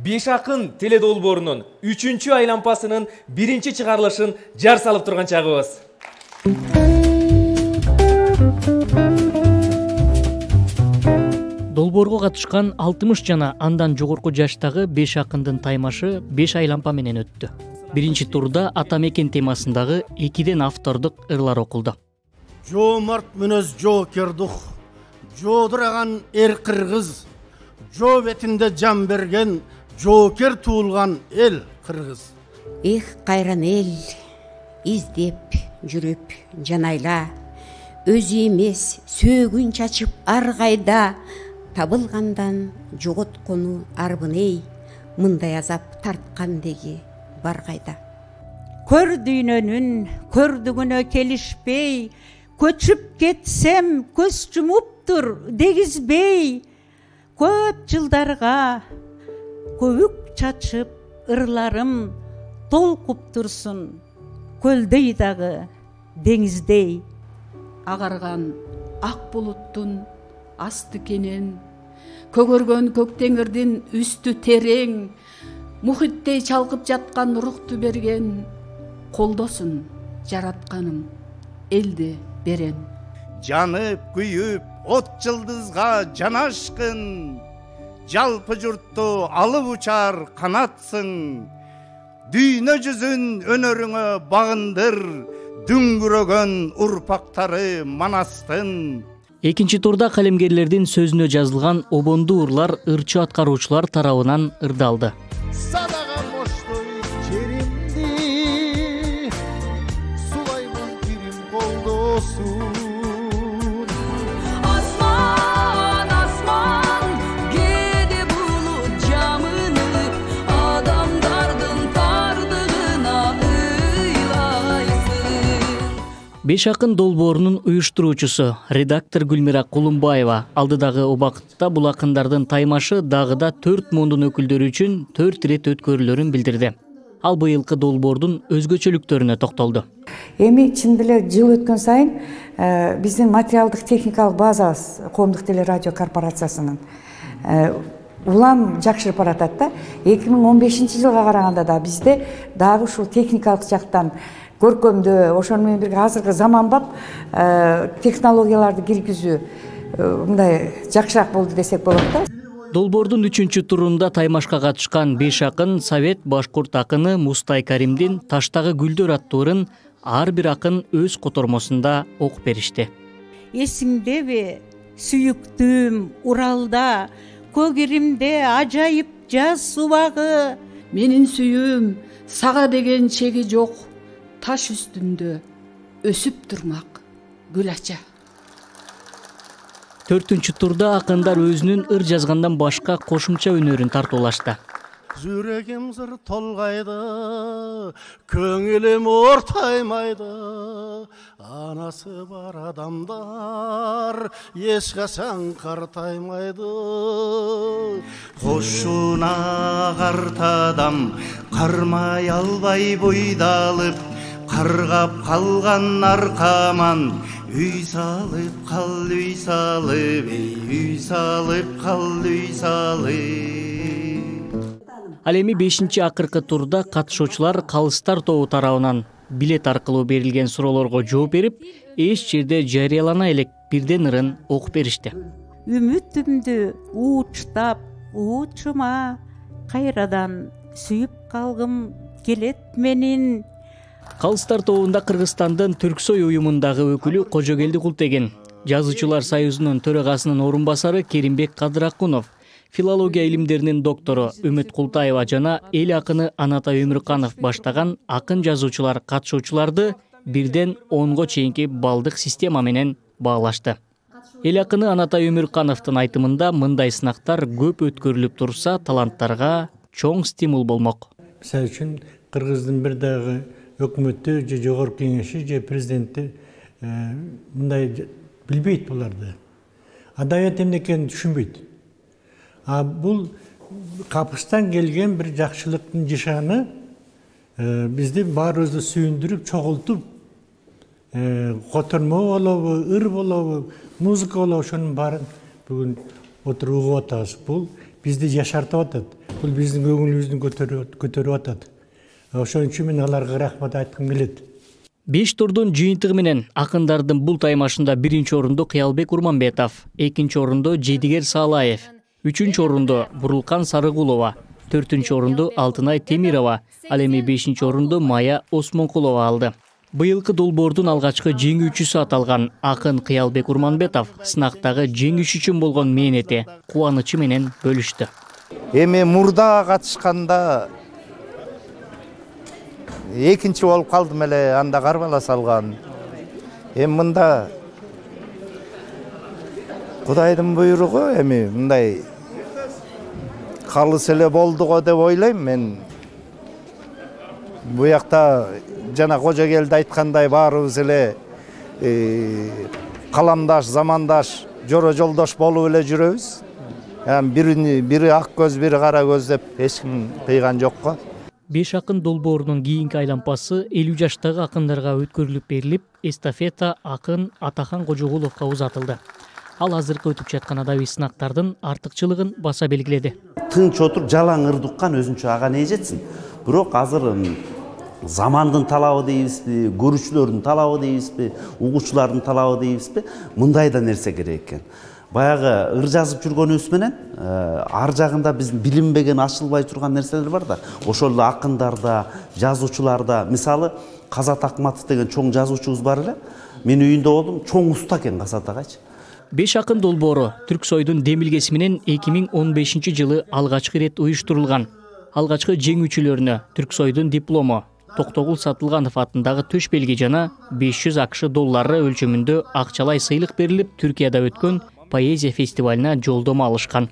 Беш акын теле долбоорунун 3-чү айлампасынын 1-чи чыгарылышын жар салып турган чагыбыз. Долбоорго катышкан 60 жана андан жогорку жаштагы 5 акындын таймашы 5 айлампа менен өттү. Биринчи турда ата мекен темасындагы 2ден автордук ырлар окулду. Жомарт мүнөз жоокердук, жоодураган эр кыргыз, жоо бетинде жан берген жоокер туулган эл кыргыз. Эх, кайран эл, издеп жүрүп жанайла, өзү эмес сөөгүн чачып ар кайда, табылгандан жоготкону арбын эй, мындай азап тарткан деги бар кайда. Көр дүйнөнүн көрдүгүнө келишпей, көчүп кетсем көз жумуптур дегизбей, көп жылдарга көбүк чачып ырларым толкуп турсун, көлдөй дагы деңиздей. Агарган ак булуттун асты кенен, көгөргөн көк теңирдин үстү терең, мухиттей чалкып жаткан рухту берген, колдосун жаратканым элди берен. Жанып күйүп от жылдызга жанашкын, жалпы журтту алып учар канатсың, дүйнө жүзүн өнөрүңө багындыр, дүңгүрөгөн урпактары Манастын. Экинчи турда калемгерлердин сөзүнө жазылган обондуу ырлар ырчы аткаруучулар тарабынан ырдалды. Садаган боштой жеримди, сулаймын бирим колдосун. Асман, асман, кээде булут жамыны, адамдардын тардыгына ыйлайсың. Беш акын долбоорунун уюштуруучусу редактор Гүлмира Кулумбаева алдыдагы убакытта бул акындардын таймашы дагы да 4 мундун өкүлдөрү үчүн 4 ирет өткөрүлөрүн билдирди. Ал быйылкы долбоордун өзгөчөлүктөрүнө токтолду. Эми чын деле жыл өткөн сайын биздин материалдык техникалык базабыз Коомдук теле радио корпорациясынын улам жакшырып баратат да. 2015-жылга караганда да бизде дагы ушул техникалык жактан көркөмдөө, ошону менен бирге азыркы заманбап технологияларды киргизүү мындай жакшыраак болду десек болот да. Долбоордун 3-чү турунда таймашка катышкан 5 акын Совет башкурт акыны Мустай Каримдин Таштагы гүлдөр аттуу ырын ар бир акын өз котормосунда окуп беришти. Эсиңдеби, сүйүктүүм, Уралда, көгиримде ажайып жаз убагы. Менин сүйүүм сага деген чеги жок, таш үстүндө өсүп турмак гүл ача. 4-чү турда акындар өзүнүн ыр жазгандан башка кошумча өнөрүн тартуулашты. Жүрегим зыр толгайды, көңүлүм ортаймайды, анасы бар адамдар эч качан картаймайды. Кошуна карт адам кармай албай бойдалып, каргап калган аркаман, үй салып кал, үй салып, үй салып кал, үй салып. Ал эми 5-чи акыркы турда катышуучулар Калыстар тобу тарабынан билет аркылуу берилген суроолорго жооп берип, эч жерде жарыялана элек бирден ырын окуп беришти. Үмүтүмдү уучтап, уучума кайрадан сүйүп калгым келет менин. Калыстар тобунда Кыргызстандын Түрксой уюмундагы өкүлү Кожогелди Култеген, Жазуучулар союзунун төрагасынын орун басары Керимбек Кадыракунов, филология илимдеринин доктору Үмүт Култаева жана эл акыны Анатай Өмүрканов баштаган акын жазуучулар катышуучуларды 1ден 10го чейинки балдык система менен баалашты. Эл акыны Анатай Өмүркановдун айтымында мындай сынактар көп өткөрүлүп турса, таланттарга чоң стимул болмок. Мисалы үчүн Кыргыздын бир дагы өкмөттү же жогорку кеңеши же президенти мындай билбейт буларды. Адабият эмне экенин түшүнбөйт. Бул капыстан келген бир жакшылыктын жышаны бизди баарыбызды сүйүндүрүп, чогултуп, котормо болобу, ыр болобу, музыка болобу, ошонун баарын бүгүн отуруп угуп атабыз. Бул бизди жашартып атат. бул биздин көңүлүбүздү көтөрүп атат. Ошон үчүн мен аларга рахмат айткым келет. 5 турдун жыйынтыгы менен акындардын бул таймашында 1-чи орунду Кыялбек Урманбетов, 2-чи орунду Жедигер Саалаев, 3-чү орунду Бурулкан Сарыгулова, 4-чү орунду Алтынай Темирова, ал эми 5-чи орунду Мая Осмонкулова алды. Быйылкы долбоордун алгачкы жеңүүчүсү аталган акын Кыялбек Урманбетов сынактагы жеңиш үчүн болгон мээнети, кубанычы менен бөлүштү. Эми мурда катышканда экинчи болуп калдым эле, анда карбала салган. Эми мында Кудайдын буйругу, эми мындай калыс эле болду го деп ойлойм мен. Бу жакта жана Кожогелди айткандай баарыбыз эле каламдаш, замандаш, жоро жолдош болуп эле жүрөбүз. Бири ак көз, бири кара көз деп эч ким кыйган жок го. 5 акын долбоорунун кийинки айланпасы 50 жаштагы акындарга өткөрүлүп берилип, эстафета акын Атахан Кожогуловго узатылды. Ал азыркы өтүп жаткан адабий сынактардын артыкчылыгын баса белгиледи. Тынч отуруп жалаң ырды уккан өзүнчө ага не жетсин. Бирок азыр замандын талабы дейбизби, көрүүчүлөрдүн талабы дейбизби, угуучулардын талабы дейбизби, мындай да нерсе керек экен. Баягы ыр жазып жүргөнүбүз менен ар жагында биздин билинбеген, ачылбай турган нерселер бар да. Ошол эле акындарда, жазуучуларда, мисалы Казат Акматов деген чоң жазуучубуз бар эле. Мен үйүндө болдум, чоң уста экен Казат агачы. 5 акын долбоору Түрксойдун демилгеси менен 2015-жылы алгачкы ирет уюштурулган. Алгачкы жеңүүчүлөрүнө Түрксойдун диплому, Токтогул Сатылганов атындагы төш белги жана 500 АКШ доллары өлчөмүндө акчалай сыйлык берилип, Түркияда өткөн поэзия фестивалына жолдомо алышкан.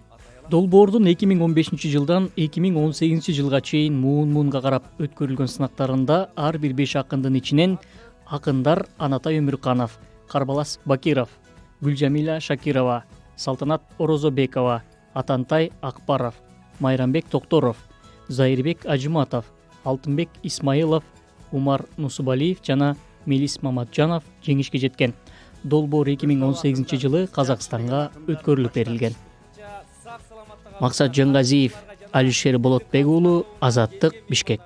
Долбоордун 2015-жылдан 2018-жылга чейин муун-муунга карап өткөрүлгөн сынактарында ар бир 5 акындын ичинен акындар Анатай Өмүрканов, Карбалас Бакиров, Гүлжамила Шакирова, Салтанат Орозобекова, Атантай Акбаров, Майрамбек Токторов, Зайырбек Ажыматов, Алтынбек Исмаилов, Умар Нусубалиев жана Мелис Маматжанов жеңишке жеткен. Долбоор 2018-жылы Казакстанга өткөрүлүп берилген. Максат Жангазиев, Алишер Болотбек уулу, Азаттык, Бишкек.